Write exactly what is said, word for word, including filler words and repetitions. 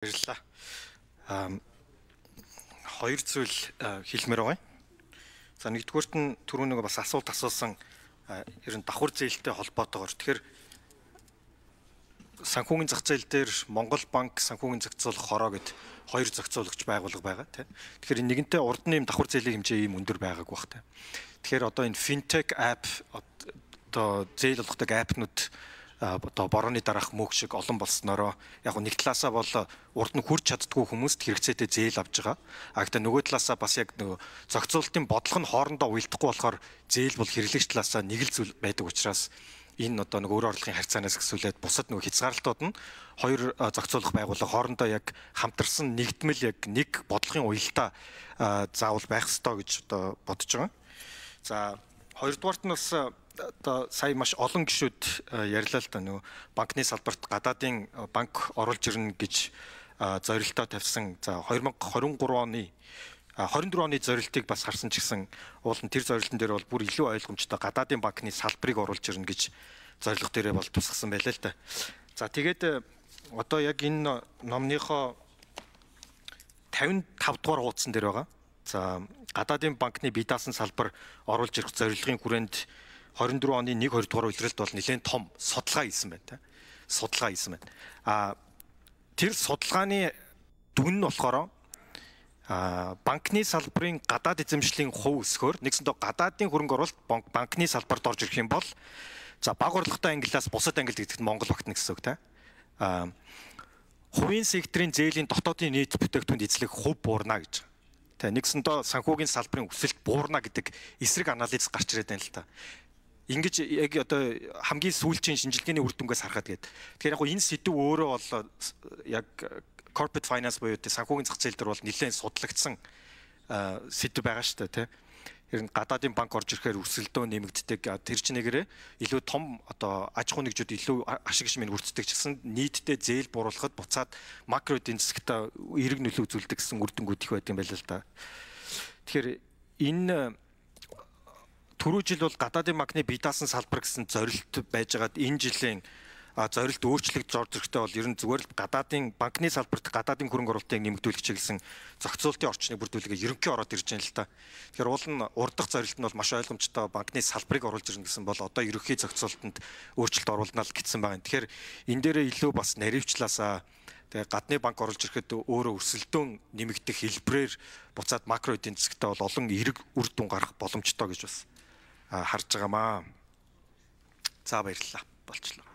Баярлалаа. Аа хоёр зүйл хэлмээр байгаа. За нэгдүгüүрт нь түрүү нэг бас асуулт асуусан ер нь давхар зээлтэй холбоотойгоор. Тэгэхээр санхүүгийн зах зээл дээр Монгол банк санхүүгийн зохицуулах хороо гэд хоёр зохицуулагч байгуулга байгаа тийм. Тэгэхээр нэгэнтээ урд нь юм давхар зээлийн хэмжээ ийм өндөр байгааг баг тийм. Тэгэхээр одоо энэ финтек app одоо зээл олгодог аппнууд одоо борооны дараах мөг шиг олон болсноороо яг нэг талаасаа бол урд нь хүрч чаддгүй хүмүүст хэрэгцээтэй зээл авж байгаа. А гэхдээ нөгөө талаасаа бас яг нөгөө зохицуулалтын бодлого нь хоорондоо уялдахгүй болохоор зээл бол хэрэглэгч талаасаа нэг л зүйл байдаг учраас энэ одоо нэг өөр орлогын харьцаанаас гэсүүлээд бусад нөгөө хязгаарлалтууд нь хоёр зохицуулах байгууллага хоорондоо яг хамтарсан нэгдмэл яг нэг бодлогын уялдаа заавал байх ёстой гэж одоо бодож байгаа. За хоёрдугаарт нь бас одоо сая маш олон гишүүд ярьлаа л да нөгөө банкны салбарт гадаадын банк оруулж ирнэ гэж зорилтоо тавьсан. За две тысячи двадцать три оны двадцать четыре оны зорилтыг бас харсан ч гэсэн уул нь тэр зорилтын дээр бол бүр илүү ойлгомжтой гадаадын банкны салбарыг оруулж ирнэ гэж зорилго дээрээ бол тусгасан байлаа л да. За тэгээд одоо яг энэ номныхоо петьдесят дугаар хуудсан дээр байгаа. За гадаадын банкны бие даасан салбар оруулж ирэх зорилгын хүрээнд двадцать четыре оны нэг хоёр дугаар үйлрэлт бол нэлээд том судалгаа хийсэн байна. Судалгаа хийсэн байна. А тэр судалгааны дүн нь болохоор а банкны салбарын гадаад эзэмшлийн хувь өсгөөр нэгсэндээ гадаадын хөрөнгө оруулалт банкны салбарт орж ирэх юм бол за бага орлоготой ангиллаас бусад ангилд гэдэгт Монгол багтна гэсэн үг та. А хувийн секторын зээлийн дотоодын нийт бүтээгдэхүүнд эзлэх хувь буурна гэж. Тэ нэгсэндээ санхүүгийн салбарын өсөлт буурна гэдэг эсрэг анализ гарч ирээд байна л та. Ингэж яг одоо хамгийн сүүлчийн шинжилгээний үр дүнгээс харахад гээд. Тэгэхээр яг энэ сэдв өөрөө бол яг corporate finance буюу санхүүгийн зах зээл дээр бол нэлээд судлагдсан сэдв байгаа шүү дээ, тийм. Ер нь гадаадын банк орж ирэхээр өрсөлдөө нэмэгддэг. Тэр чинээрээ илүү том одоо аж ахуй нэгжүүд илүү ашиг шимэн үрцдэг ч гэсэн нийтдээ зээл бууруулахад буцаад макро эдийн засагт эерэг нөлөө үзүүлдэг гэсэн үр дүнгууд их байдаг юм байна л да. Тэгэхээр энэ түрүү жил бол гадаадын банкны бие даасан салбар гэсэн зорилт байж байгаад энэ жилийн зорилт өөрчлөгдөж орж ирэхдээ бол ер нь зүгээр л гадаадын банкны салбарт гадаадын хөрөнгө оруулалтыг нэмэгдүүлэх чиглэсэн зохицуулалтын орчныг бүрдүүлэгээ ерөнхий ороод ирж байна л та. Тэгэхээр уул нь урдах зорилт нь бол маш ойлгомжтой банкны салбарыг оруулж ирнэ гэсэн бол одоо ерөнхий зохицуулалтанд өөрчлөлт оруулна л гэсэн байна. Тэгэхээр энэ дээрээ илүү бас наривчлаасаа тэгээ гадны банк оруулж ирэхэд өөрөө өрсөлдөөн нэмэгдэх хэлбэрээр буцаад макро эдийн засагтаа бол олон эерэг үр дүн гарах боломжтой гэж бас харж байгаамаа. За баярлалаа. Болчлоо.